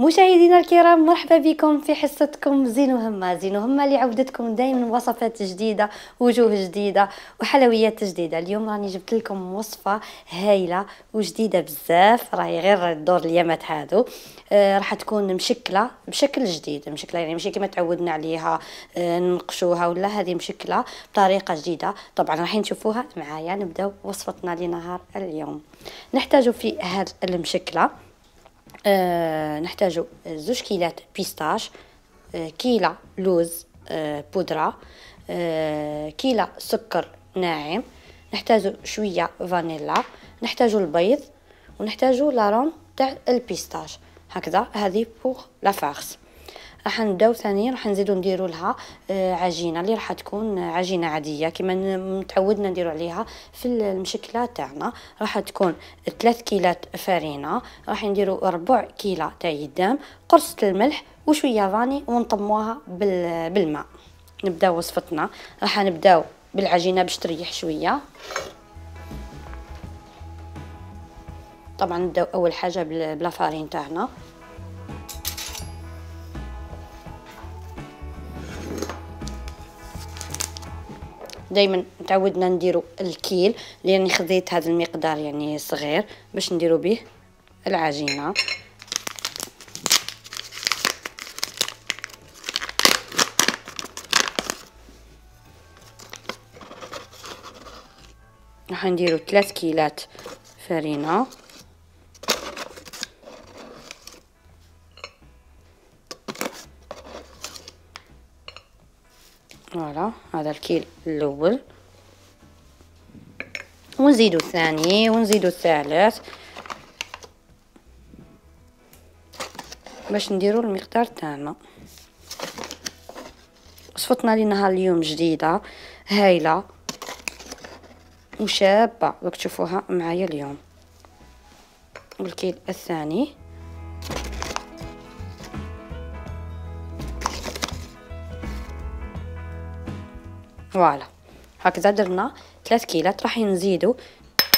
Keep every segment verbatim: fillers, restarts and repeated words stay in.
مشاهدينا الكرام، مرحبا بكم في حصتكم زين وهمة. زين وهمة لعودتكم دائما وصفات جديدة، وجوه جديدة وحلويات جديدة. اليوم راني جبت لكم وصفة هايلة وجديدة بزاف، راهي غير الدور اليامات هادو. آه راح تكون مشكلة بشكل جديد، مشكلة يعني ماشي كما تعودنا عليها آه نقشوها ولا، هذه مشكلة بطريقة جديدة. طبعا راح نشوفوها معايا. نبداو وصفتنا لنهار اليوم. نحتاج في هذه المشكلة أه نحتاج زوج كيلات بيستاش، أه كيلة لوز أه بودرة، أه كيلة سكر ناعم، نحتاج شوية فانيلا، نحتاج البيض، ونحتاج لارون تاع البيستاش. هكذا هذه بوغ لا فارس. راح نبداو ثانيا راح نزيدو نديرو لها آه عجينه اللي راح تكون عجينه عاديه كما متعودنا نديرو عليها في المشكله تاعنا. راح تكون ثلاث كيلات فرينه، راح نديرو ربع كيله تاع يدام، قرصه الملح وشويه فاني، ونطموها بالماء. نبداو وصفتنا. راح نبداو بالعجينه باش تريح شويه. طبعا نبداو اول حاجه بلا فارين تاعنا. دائما تعودنا نديرو الكيل، لاني خذيت هذا المقدار يعني صغير باش نديرو به العجينه. راح نديرو ثلاث كيلات فرينه، فوالا هذا الكيل الاول، ونزيدو الثاني ونزيدو الثالث باش نديرو المقدار تاعنا. وصفتنا لنهار اليوم جديده هايله وشابه، راك تشوفوها معايا اليوم. والكيل الثاني فوالا هكذا درنا ثلاث كيلات. راح نزيدو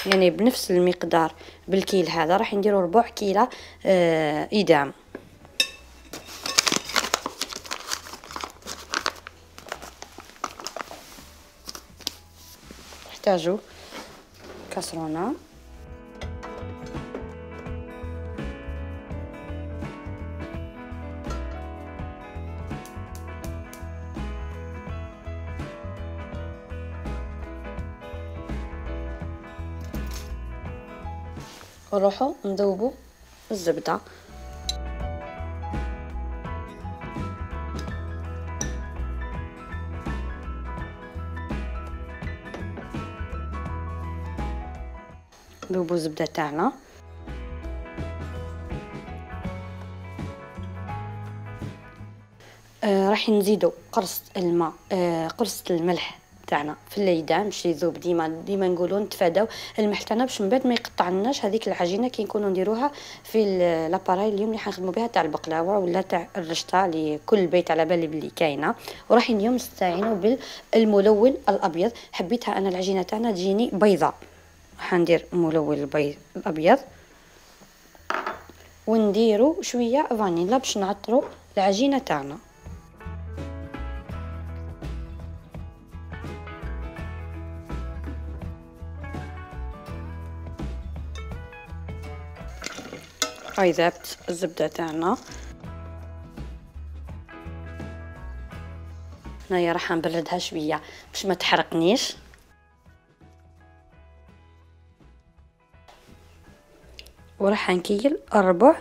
يعني بنفس المقدار بالكيل هذا، راح نديرو ربع كيلة آه إدام. نحتاجو كاسرونة، ونروحو نذوبو الزبدة. نذوبو الزبدة تاعنا. آه راح نزيدو قرص الماء، آه قرص الملح تاعنا في الليدان باش يذوب. ديما ديما نقولوا نتفاداو الملح تاعنا باش من بعد ما يقطعناش هذيك العجينه كي نكونوا نديروها في لاباراي اليوم اللي حنخدموا بها تاع البقلاوه ولا تاع الرشطه اللي كل بيت على بالي بلي كاينه. وراح اليوم نستعينوا بالملون الابيض. حبيتها انا العجينه تاعنا تجيني بيضاء، راح ندير ملون البيض الابيض، ونديروا شويه فانيلا باش نعطروا العجينه تاعنا. هاي ذابت الزبدة تاعنا. هنايا راح نبردها شوية باش ما تحرقنيش. وراح نكيل ربع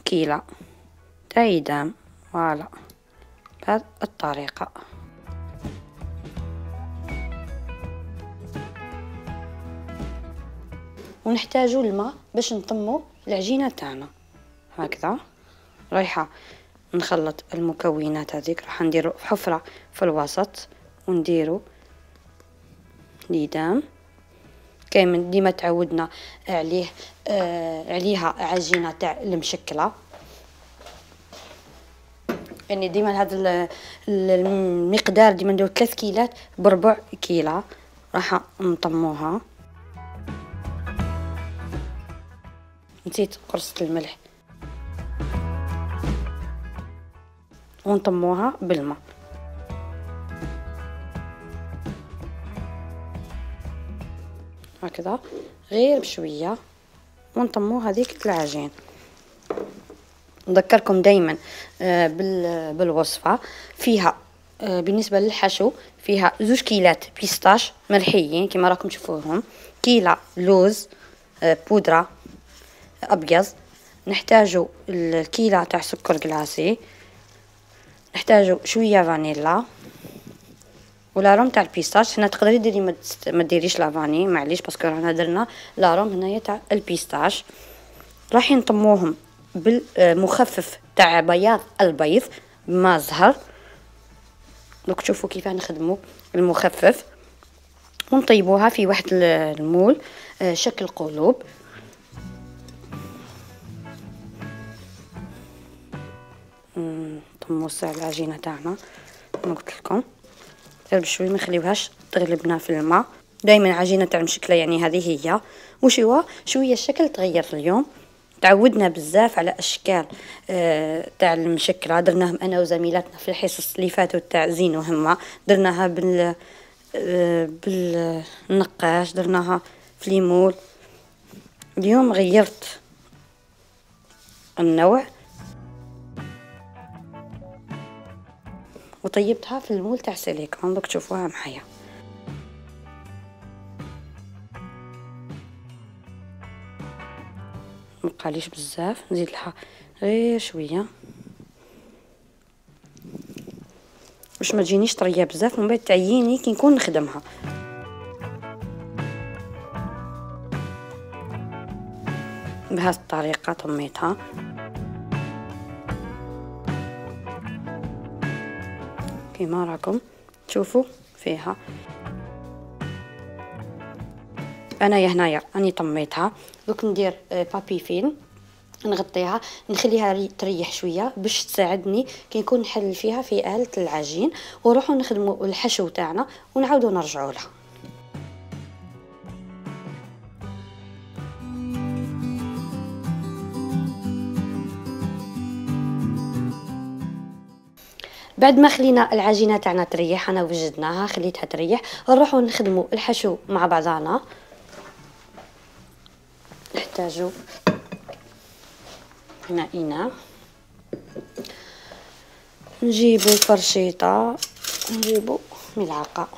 كيلة تاع إدام، فوالا بهذه الطريقة. ونحتاجو الماء باش نطمو العجينه تاعنا. هكذا رايحه نخلط المكونات هذيك. راح نديرو حفره في الوسط ونديرو ليدام كامل ديما تعودنا عليه آه عليها عجينه تاع المشكله. يعني ديما هذا المقدار ديما نديرو ثلاث كيلات بربع كيله. راح نطموها. نسيت قرصة الملح. ونطموها بالماء. هكذا غير بشويه ونطمو هذيك العجين. نذكركم دائما بالوصفه، فيها بالنسبه للحشو فيها زوج كيلات بيستاش مرحيين كما راكم تشوفوهم، كيلة لوز بودره ابيض، نحتاجو الكيلة تاع سكر كلاصي، نحتاجو شويه فانيلا ولا روم تاع البيستاش. هنا تقدري ديري ما ديريش لا فاني معليش باسكو رانا درنا لا روم هنايا تاع البيستاش. راح نطموهم بالمخفف تاع بياض البيض بماء زهر. دوك تشوفوا كيف نخدموا المخفف، ونطيبوها في واحد المول شكل قلوب. نطمو ساع العجينه تاعنا كما قلت لكم غير بشوي، ما نخليوهاش تغلبنا في الماء. دائما عجينه تاع مشكله يعني هذه هي. وشوا شويه الشكل تغير اليوم، تعودنا بزاف على اشكال آه تاع المشكله، درناهم انا وزميلاتنا في الحصص اللي فاتوا تاع زين وهمه، درناها بال آه بالنقاش، درناها في ليمول. اليوم غيرت النوع وطيبتها في المول تاع سيليكون. دوك تشوفوها معايا. مبقاليش بزاف، نزيد لها غير شويه باش ما تجينيش طريه بزاف ومن بعد تعييني كي نكون نخدمها. بهذه الطريقه طميتها. كما راكم تشوفوا فيها انايا هنايا راني طميتها. دوك ندير بابي فيلم نغطيها نخليها تريح شويه باش تساعدني كي نكون نحل فيها في آلة العجين، ونروحوا نخدموا الحشو تاعنا ونعاودوا نرجعوا لها. بعد ما خلينا العجينه تاعنا تريح، انا وجدناها خليتها تريح، نروحوا نخدموا الحشو مع بعضنا. نحتاجوا هنا إناء، نجيبوا فرشيطه، نجيبوا ملعقه.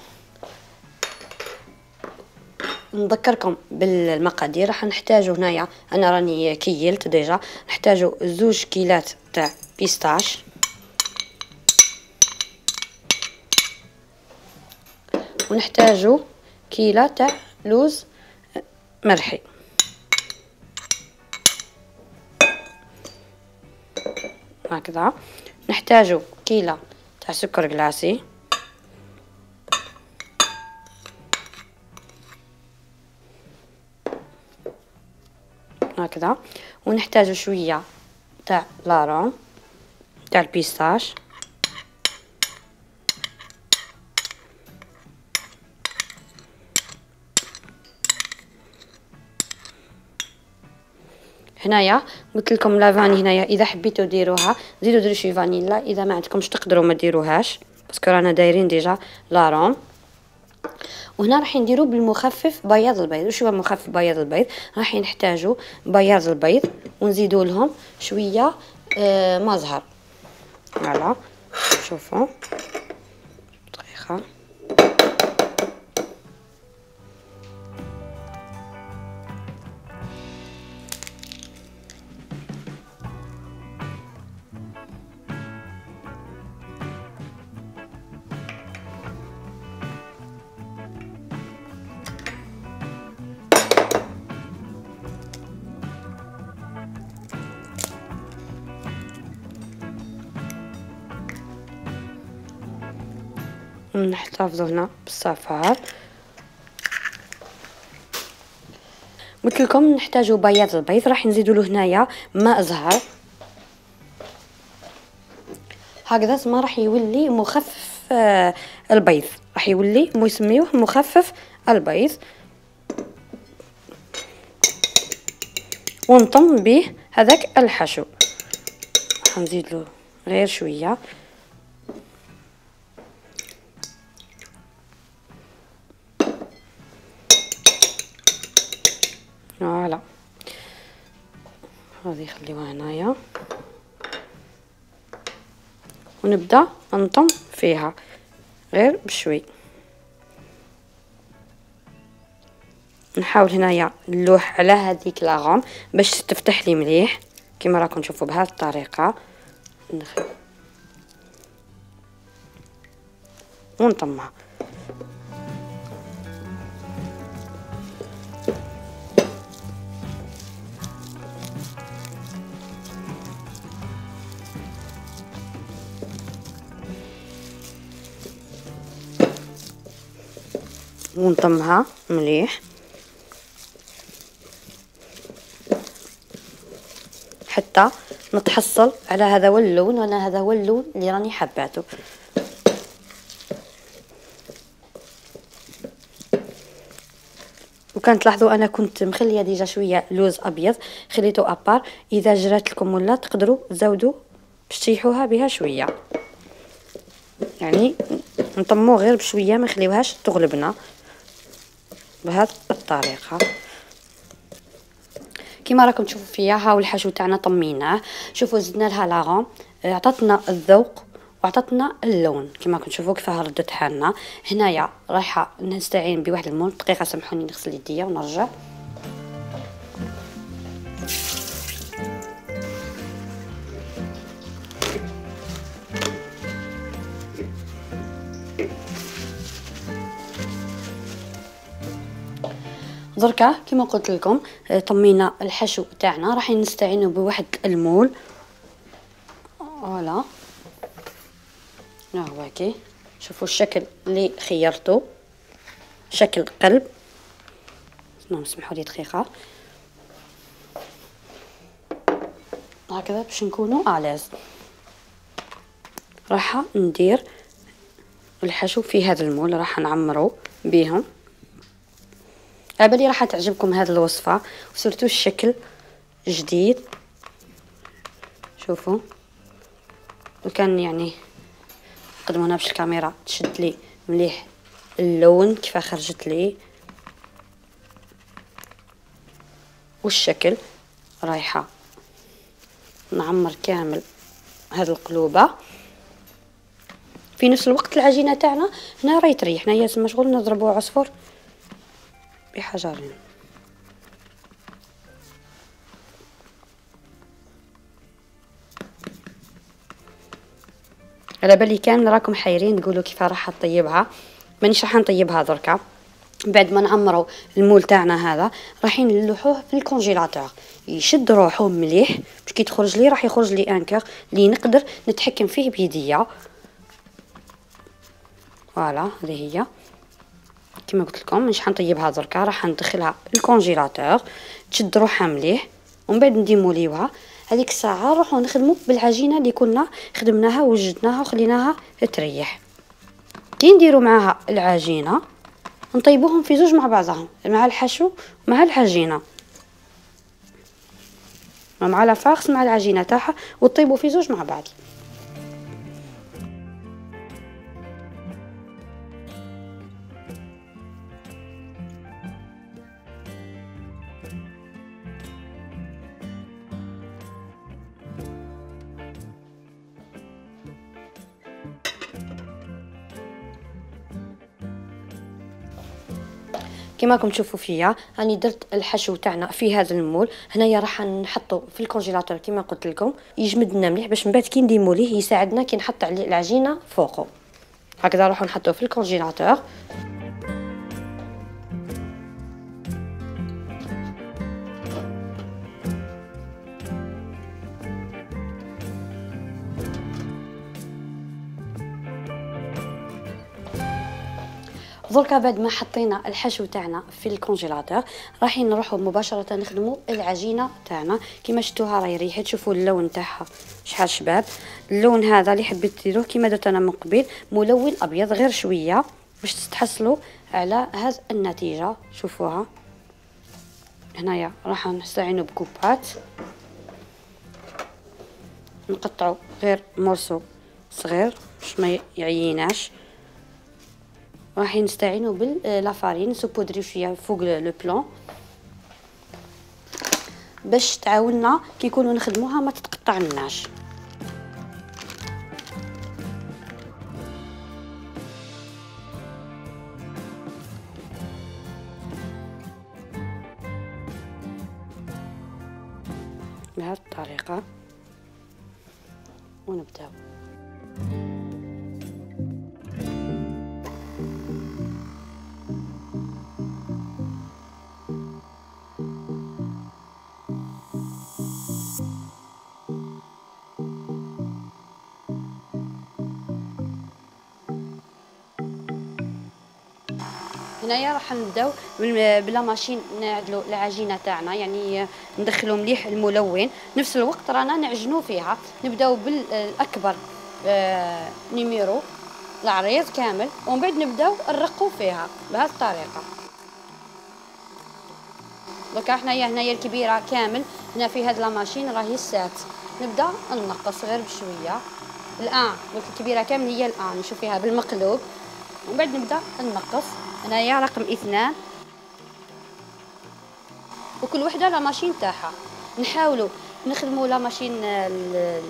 نذكركم بالمقادير، راح نحتاجوا هنايا انا راني كيلت ديجا، نحتاجوا زوج كيلات تاع بيستاش، ونحتاجوا كيلة تاع لوز مرحي. هكذا نحتاجوا كيلة تاع سكر كلاصي، هكذا، ونحتاجوا شويه تاع لاروم تاع البيستاش، هنايا قلت لكم لا فاني هنايا اذا حبيتوا ديروها زيدوا ديروا شي فانيلا، اذا ما عندكمش تقدروا ما ديروهاش باسكو رانا دايرين ديجا لاروم. وهنا راح نديرو بالمخفف بياض البيض. وش هو مخفف بياض البيض؟ راح نحتاجو بياض البيض ونزيدو لهم شويه آه ما زهر. فوالا شوفوا دقيقه نحتفظوا هنا بالصفار. قلت لكم نحتاجوا بياض البيض، راح نزيدوا له هنايا ماء زهر هكذا، ما راح يولي مخفف آه البيض، راح يولي يسميوه مخفف البيض. ونطم به هذاك الحشو، نزيد له غير شويه هذه خليوها هنايا ونبدا نطم فيها غير بشوي. نحاول هنايا نلوح على هذيك لاغوم باش تفتح لي مليح كما راكم تشوفوا بهذه الطريقه. ندخل ونطمها. ونطمها مليح حتى نتحصل على هذا هو اللون، وانا هذا هو اللون اللي راني حباته. وكان تلاحظوا انا كنت مخليه ديجا شويه لوز ابيض خليته ابار، اذا جرات لكم ولا تقدروا تزودوا باش تشيحوها بها شويه، يعني نطمو غير بشويه ما نخليوهاش تغلبنا بهذه الطريقه. كما راكم تشوفوا فيا هاو الحشو تاعنا طميناه. شوفوا زدنا لها لاغون، عطاتنا الذوق وعطاتنا اللون كما راكم تشوفوا كيفاه ردت حالنا. هنايا رايحه نستعين بواحد المول. دقيقه سامحوني نغسل يديا ونرجع. دركا كما قلت لكم طمينا الحشو تاعنا، راح نستعينوا بواحد المول. فوالا ها هو كي شوفوا الشكل اللي خيرته، شكل قلب. نعم سمحوا لي دقيقه هكذا باش نكونوا الاز. راح ندير الحشو في هذا المول، راح نعمرو بهم. عبالي راح تعجبكم هذه الوصفه وسورتو الشكل جديد. شوفوا وكان يعني نقدموا هنا باش الكاميرا تشد لي مليح اللون كيف خرجت لي، والشكل رايحه نعمر كامل هذه القلوبه. في نفس الوقت العجينه تاعنا هنا راهي تريح، هنايا تما شغل نضربوا عصفور بحجرين. على بالي كامل راكم حايرين تقولوا كيف راح نطيبها. مانيش راح نطيبها دركا، بعد ما نعمروا المول تاعنا هذا رايحين نلوحوه في الكونجيلاتور يشد روحه مليح باش كي تخرج لي راح يخرج لي انكر اللي نقدر نتحكم فيه بيديا. فوالا هذه هي كما قلت لكم. مش حنطيبها دركا، راح ندخلها الكونجيلاتور تشد روحها مليح ومن بعد نديموليوها. هذيك الساعه نروحو نخدموا بالعجينه اللي كنا خدمناها وجدناها وخليناها تريح. كي نديروا معاها العجينه نطيبوهم في زوج مع بعضهم، مع الحشو مع العجينه، مع لافارس مع العجينه تاعها، وطيبوا في زوج مع بعض. كما راكم تشوفوا فيا راني درت الحشو تاعنا في هذا المول. هنايا راح نحطو في الكونجيلاتور كما قلت لكم يجمد لنا مليح باش من بعد كي نديموليه يساعدنا كي نحط عليه العجينه فوقه. هكذا نروحو نحطوه في الكونجيلاتور. دركا بعد ما حطينا الحشو تاعنا في الكونجيلاتور رايحين نروحوا مباشره نخدموا العجينه تاعنا. كما شفتوها راهي ريحت، شوفوا اللون تاعها شحال شباب. اللون هذا اللي حبيت ديروه كما درت انا من قبل ملون ابيض غير شويه باش تتحصلوا على هذه النتيجه. شوفوها هنايا راح نستعينوا بكوبات نقطعوا غير مورسو صغير باش ما يعيناش. راح نستعينوا باللافارين سوبودري شويه فوق لو بلون. باش تعاوننا كي نكونوا نخدموها ما تتقطع لناش. بهذه الطريقه ونبداو. هنايا راح نبداو بلا ماشين نعدلو العجينه تاعنا، يعني ندخلو مليح الملون، نفس الوقت رانا نعجنو فيها. نبداو بالاكبر آه نيميرو العريض كامل، ومن بعد نبداو نرقو فيها بهذه الطريقه. دوكا حنايا هنايا الكبيره كامل هنا في هاد لا ماشين راهي السات، نبدا نقص غير بشويه. الان دوك الكبيره كامل هي الان نشوف فيها بالمقلوب، ومن بعد نبدا نقص. هنايا رقم اثنان، وكل وحده لا ماشين تاعها. نحاولوا نخدموا لا ماشين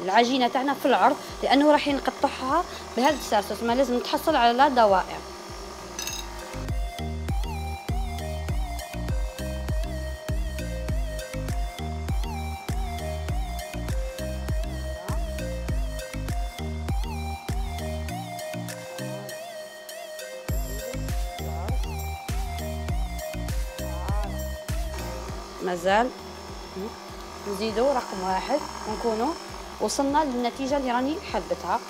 العجينه تاعنا في العرض، لانه راح نقطعها بهذا السرسس، ما لازم نتحصل على دوائر. مازال نزيدو رقم واحد ونكونوا وصلنا للنتيجة اللي راني حبتها.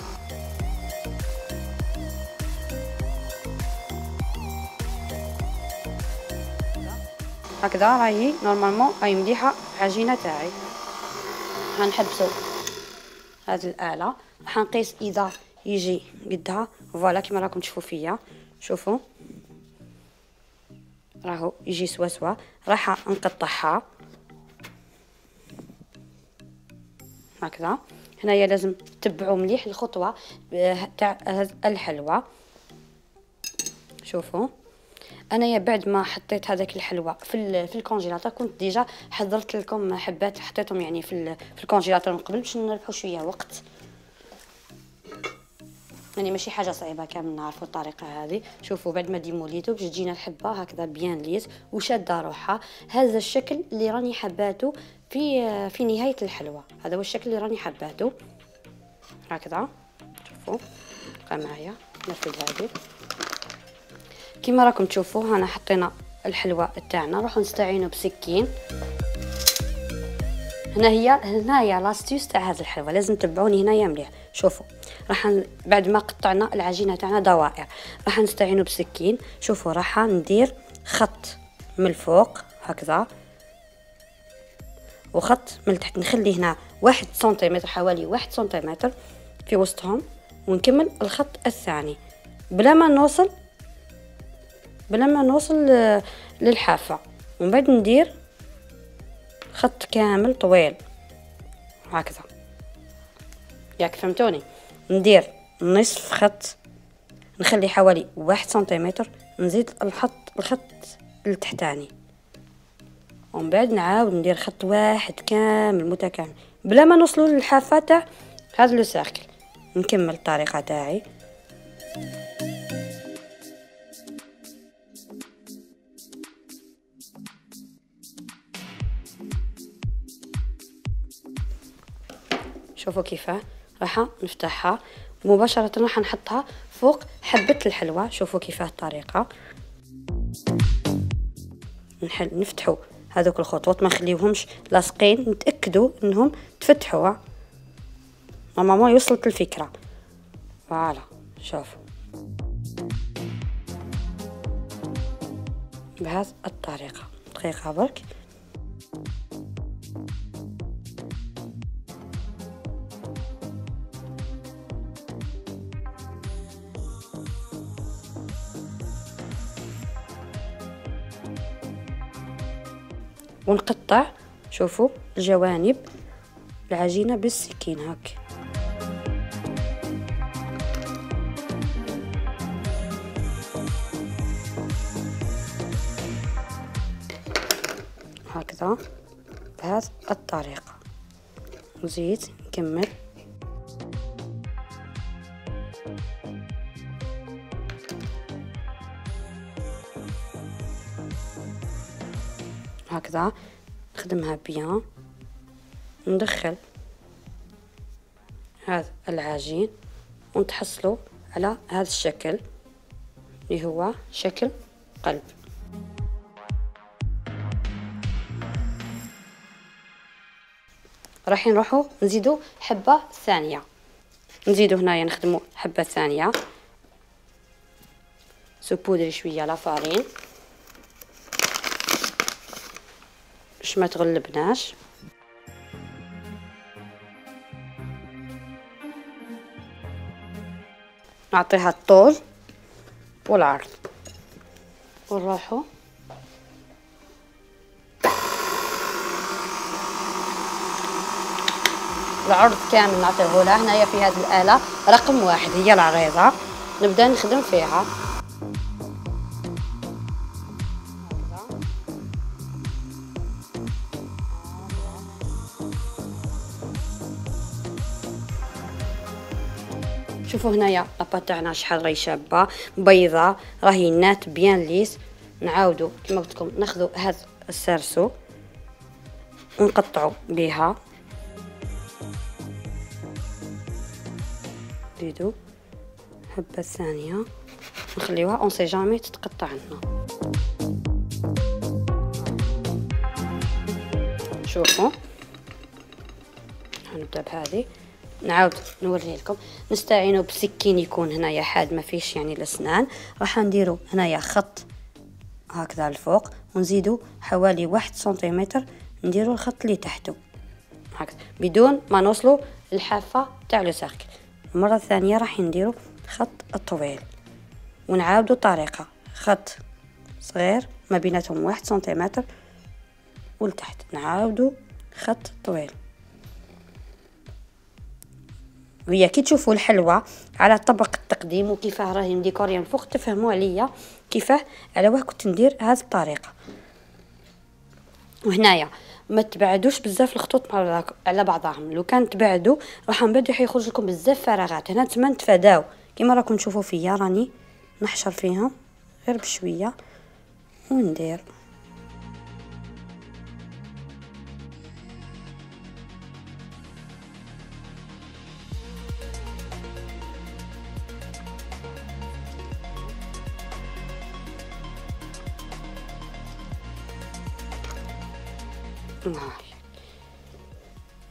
هكذا راهي نورمالمون راهي مليحة العجينة تاعي. غنحبسو هذه الآلة، راح نقيس إذا يجي قدها فوالا كيما راكم تشوفوا فيا. شوفوا راهو يجي سوا سوا. راح نقطعها هكذا. هنايا لازم تتبعوا مليح الخطوه تاع الحلوى. شوفوا انايا بعد ما حطيت هذاك الحلوى في في الكونجيلاتور، كنت ديجا حضرت لكم حبات حطيتهم يعني في في الكونجيلاتور من قبل باش نربحوا شويه وقت، يعني ماشي حاجه صعيبه كامل نعرفوا الطريقه هذه. شوفوا بعد ما ديموليتو باش تجينا الحبه هكذا بيان ليس وشاده روحها. هذا الشكل اللي راني حباته في في نهايه الحلوى، هذا هو الشكل اللي راني حباته هكذا. شوفوا بقى معايا نفذ هذه كيما راكم تشوفوا. هنا حطينا الحلوى تاعنا، نروحوا نستعينوا بسكين. هنا هي هنايا لاستيوس تاع هذا الحلوى، لازم تتبعوني هنايا مليح. شوفوا راح ن... بعد ما قطعنا العجينه تاعنا دوائر راح نستعينوا بسكين. شوفوا راح ندير خط من الفوق هكذا وخط من التحت، نخلي هنا واحد سنتيمتر، حوالي واحد سنتيمتر في وسطهم، ونكمل الخط الثاني بلا ما نوصل بلا ما نوصل للحافه. ومن بعد ندير خط كامل طويل هكذا، ياك فهمتوني؟ ندير نصف خط، نخلي حوالي واحد سنتيمتر، نزيد الخط الخط التحتاني، ومن بعد نعاود ندير خط واحد كامل متكامل بلا ما نوصلوا للحافه تاع هذا لو سيركل. نكمل الطريقه تاعي. شوفوا كيفاه راح نفتحها مباشرة، راح نحطها فوق حبة الحلوى. شوفوا كيفاه الطريقة. نحل نفتحوا هذوك الخطوط، ما نخليوهمش لاصقين، نتأكدوا انهم تفتحوا. ماما يوصلت الفكرة. فوالا شوفوا بهذه الطريقة. دقيقة برك. ونقطع شوفوا الجوانب العجينة بالسكين هاك. هكذا بهذه الطريقة. نزيد نكمل. هكذا نخدمها بيان. ندخل هذا العجين ونتحصلوا على هذا الشكل اللي هو شكل قلب. راح نروحوا نزيدوا حبة ثانية. نزيدوا هنايا نخدموا حبة ثانية. سبودري شوية لافارين باش ما تغلبناش. نعطيها الطول والعرض ونروحوا العرض كامل نعطيه لها. هنايا في هذه الآلة رقم واحد هي العريضة، نبدا نخدم فيها. شوفوا هنايا لاباط تاعنا شحال راهي شابه بيضه، راهي نات بيان ليس. نعاودوا كما قلت لكم ناخذوا هذا السرسو ونقطعوا بها. نزيدوا حبه ثانيه نخليوها اون سي جامي تتقطع عندنا. شوفوا نبدا بهذه. نعاود نوريه لكم. نستعينوا بسكين يكون هنايا حاد ما فيش يعني الاسنان. راح نديروا هنايا خط هكذا الفوق ونزيدوا حوالي واحد سنتيمتر نديروا الخط اللي تحته هكذا بدون ما نوصلوا الحافه تاع لو سيركل. المره الثانيه راح نديروا خط طويل ونعاودوا طريقه خط صغير ما بيناتهم واحد سنتيمتر ولتحت نعاودوا خط طويل. وهي كي تشوفوا الحلوى على طبق التقديم وكيفاه راهي مديكوريه من فوق تفهموا عليا كيفاه على واه كنت ندير هذه الطريقه. وهنايا ما تبعدوش بزاف الخطوط على بعضهم. لو كان تبعدوا راح من بعد يخرج لكم بزاف فراغات. هنا تما نتفاداو كيما راكم تشوفوا فيا راني نحشر فيهم غير بشويه وندير.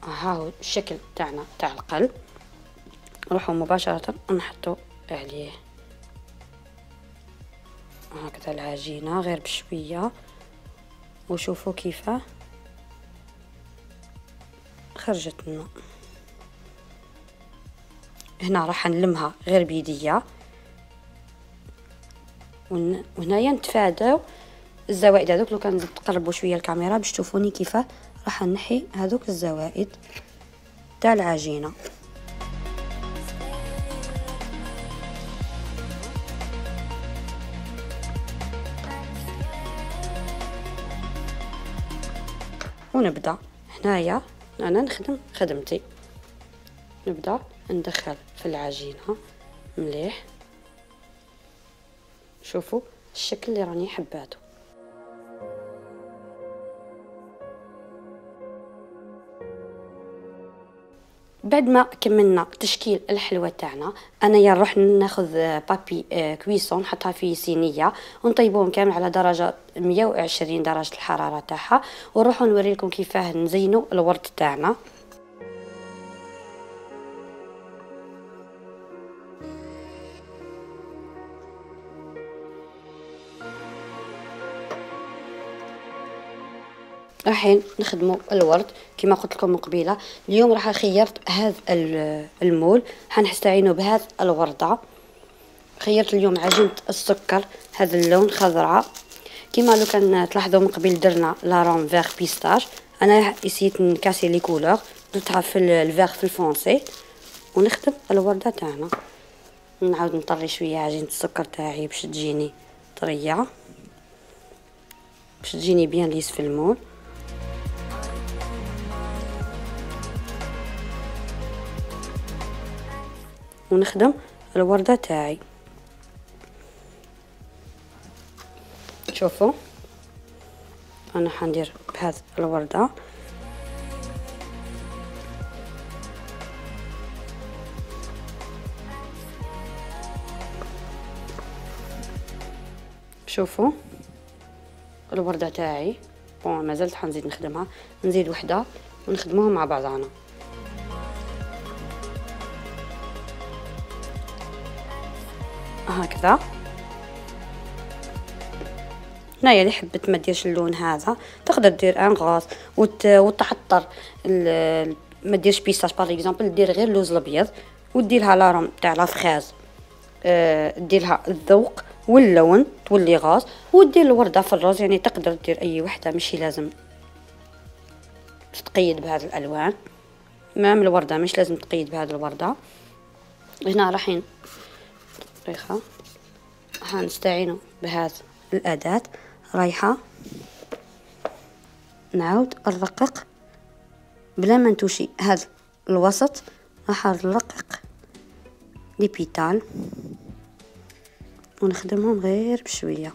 ها هو الشكل تاعنا تاع القلب. نروحوا مباشرة نحطوا عليه هكذا العجينة غير بشوية وشوفوا كيفاه خرجت لنا. هنا راح نلمها غير بيديا وهنايا نتفاداو الزوائد هذوك. لو كان تقربوا شويه الكاميرا باش تشوفوني كيفاه راح نحي هذوك الزوائد تاع العجينه. ونبدا هنايا انا نخدم خدمتي. نبدا ندخل في العجينه مليح. شوفوا الشكل اللي راني حباته. بعد ما كملنا تشكيل الحلوى تاعنا انايا نروح ناخذ بابي كويسون نحطها في صينيه ونطيبوهم كامل على درجه مية وعشرين درجه الحراره تاعها ونروحوا نوريلكم كيفاه نزينوا الورد تاعنا. راح نخدموا الورد كما قلت لكم من قبيله. اليوم راح خيرت هذا المول حنستعينوا بهذا الورده. خيرت اليوم عجينه السكر هذا اللون خضراء كما لو كان تلاحظوا من قبل درنا لارون فيغ بيستاش. انا اسيت نكاسي لي كولور درتها في الفيغ في الفونسي ونخدم الورده تاعنا. نعاود نطري شويه عجينه السكر تاعي باش تجيني طريه باش تجيني بيان ليس في المول. ونخدم الوردة تاعي. شوفوا انا حندير بهذه الوردة شوفوا الوردة تاعي بون مازلت حنزيد نخدمها، نزيد وحدة ونخدموها مع بعضنا. هكذا. هنايا اللي حبت ما ديرش اللون هذا تقدر دير ان غاز وت... وتعطر ال... ما ديرش بيستاش باغ اكزومبل، دير غير اللوز الابيض وديرها لاروم تاع لا فخاز، أه... ديرها الذوق واللون تولي غاز، ودير الورده في الروز. يعني تقدر دير اي وحده، ماشي لازم تتقيد بهذه الالوان. مام الورده مش لازم تقيد بهذه الورده. هنا راحين طريقه حنستعينوا بهذه الاداه، رايحه نعاود نرقق بلا ما نتوشي هذا الوسط، راح نرقق لي بيتال ونخدمهم غير بشويه.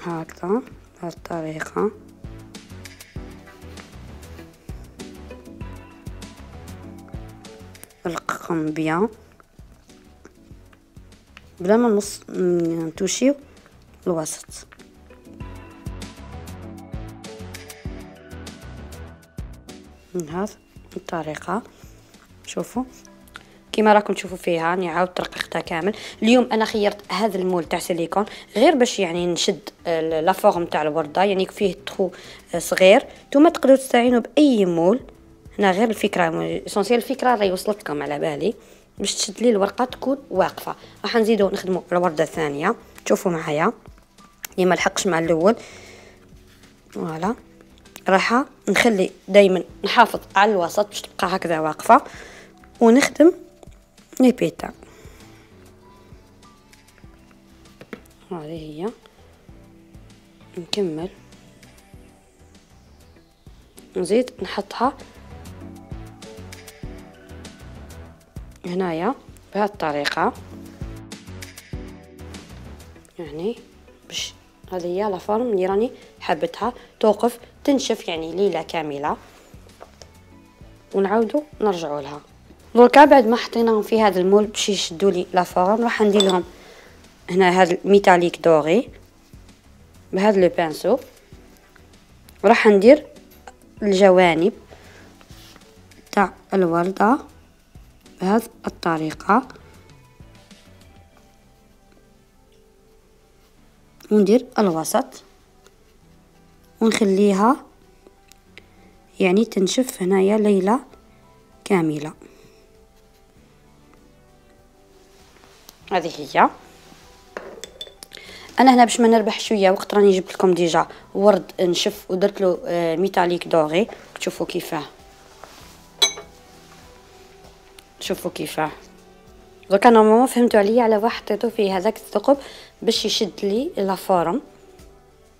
هكذا بهذه الطريقه. رققهم بيان بلا ما نص نتوشيو الوسط. من هذه الطريقه شوفوا كيما راكم تشوفوا فيها. راني عاود ترققتها كامل. اليوم انا خيرت هذا المول تاع سيليكون غير باش يعني نشد لا فورم تاع الورده، يعني فيه تخو صغير. نتوما تقدروا تستعينوا باي مول. هنا غير الفكره اسونسيال، الفكره راهي وصلت لكم على بالي، باش تشد لي الورقه تكون واقفه. راح نزيدو نخدموا الورده الثانيه. شوفوا معايا اللي ما لحقش مع الاول. فوالا راح نخلي دائما نحافظ على الوسط باش تبقى هكذا واقفه، ونخدم لي بيتا. هذه هي. نكمل نزيد نحطها هنايا بهذه الطريقه، يعني باش هذه هي لا فورم اللي راني حبتها توقف تنشف يعني ليله كامله، ونعاودو نرجعوا لها. دركا بعد ما حطيناهم في هذا المول باش يشدوا لي لا فورم، راح ندير لهم هنا هذا الميتاليك دوري بهذا لو بانسو، وراح ندير الجوانب تاع الورده بهذه الطريقه، وندير الوسط ونخليها يعني تنشف هنايا ليله كامله. هذه هي. انا هنا باش ما نربح شويه وقت راني جبت لكم ديجا ورد نشف ودرت له ميتاليك دوري. تشوفوا كيفاه، شوفوا كيفاه. دوكا نورمالمون فهمتوا عليا على واحد حطيتو فيه هذاك الثقب باش يشد لي لا فورم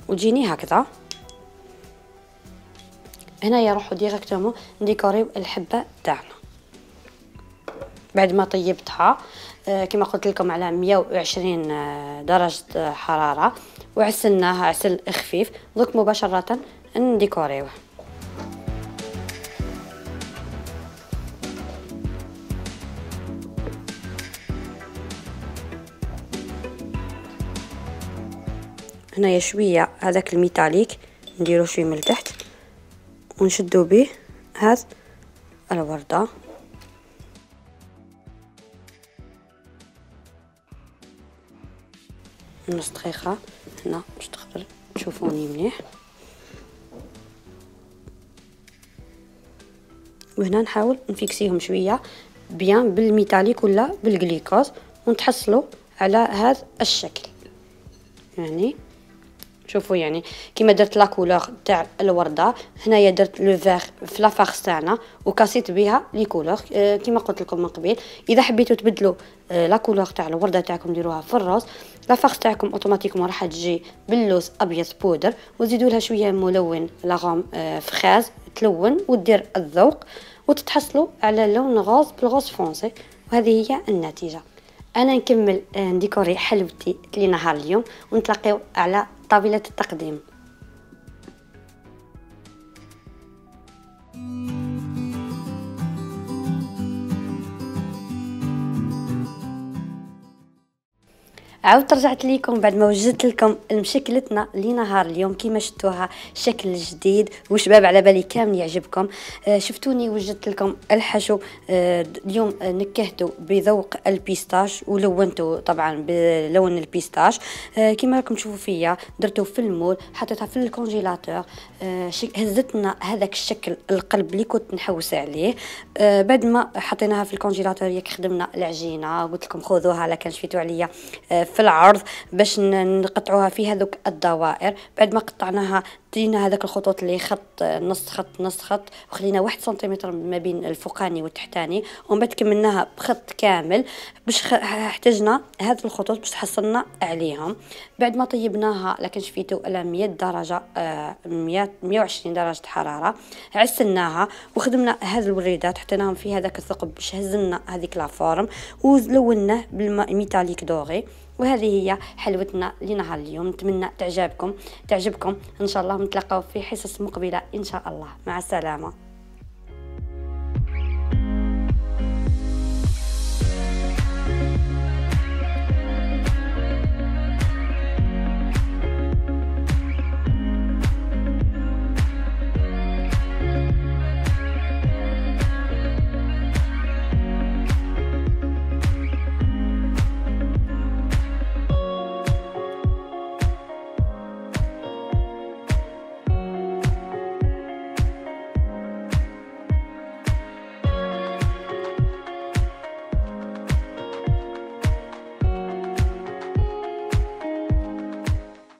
وتجيني هكذا. هنايا نروحو ديريكتومون نديكوريو الحبه تاعنا بعد ما طيبتها. آه كما قلت لكم على مية وعشرين درجه حراره، وعسلناها عسل خفيف. دوك مباشره نديكوريوه. هنايا شويه هذاك الميتاليك نديرو شويه من التحت ونشدو به هذا الورده. نص دقيقه هنا باش تقدر تشوفوني مليح. وهنا نحاول نفيكسيهم شويه بيان بالميتاليك ولا بالجليكوز، ونتحصلوا على هذا الشكل. يعني شوفوا يعني كيما درت لا كولور تاع الورده. هنايا درت لو فيغ في لا فارس تاعنا وكاسيت بها لي كولور أه كيما قلت لكم من قبل. اذا حبيتوا تبدلوا أه لا كولور تاع الورده تاعكم ديروها في الروز، لا فارس تاعكم اوتوماتيكمون راح تجي باللوز ابيض بودر، وزيدوا لها شويه ملون لاغوم أه فخاز تلون ودير الذوق، وتتحصلوا على لون غوز بالغوز فرونسي. وهذه هي النتيجه. انا نكمل نديكوري حلوتي لنهار اليوم ونتلاقيو على طاولة التقديم. عاودت رجعت ليكم بعد ما وجدت لكم مشكلتنا لنهار اليوم كيما شفتوها شكل جديد وشباب على بالي كامل يعجبكم. آه شفتوني وجدت لكم الحشو. آه اليوم آه نكهته بذوق البيستاش ولونته طبعا بلون البيستاش. آه كيما راكم تشوفوا فيا درته في المول، حطيتها في الكونجيلاتور. آه هزتنا هذاك الشكل القلب اللي كنت نحوس عليه. آه بعد ما حطيناها في الكونجيلاتور ياك خدمنا العجينه، قلت لكم خذوها لا كان شفيتوا عليا آه في العرض باش نقطعوها في هذوك الدوائر. بعد ما قطعناها دينا هذاك الخطوط اللي خط نص خط نص خط، وخلينا واحد سنتيمتر ما بين الفوقاني والتحتاني، ومن بعد كملناها بخط كامل باش احتاجنا هذه الخطوط باش تحصلنا عليهم. بعد ما طيبناها لكن شفيتو على مية درجه آه مية مية وعشرين درجه حراره، عسلناها وخدمنا هذه الوريدات حطيناهم في هذاك الثقب باش هزلنا هذيك لا فورم ولوناه بالماء ميتاليك دوغي. وهذه هي حلوتنا لنهار اليوم. نتمنى تعجبكم تعجبكم ان شاء الله. نتلاقاو في حصص مقبله ان شاء الله. مع السلامه.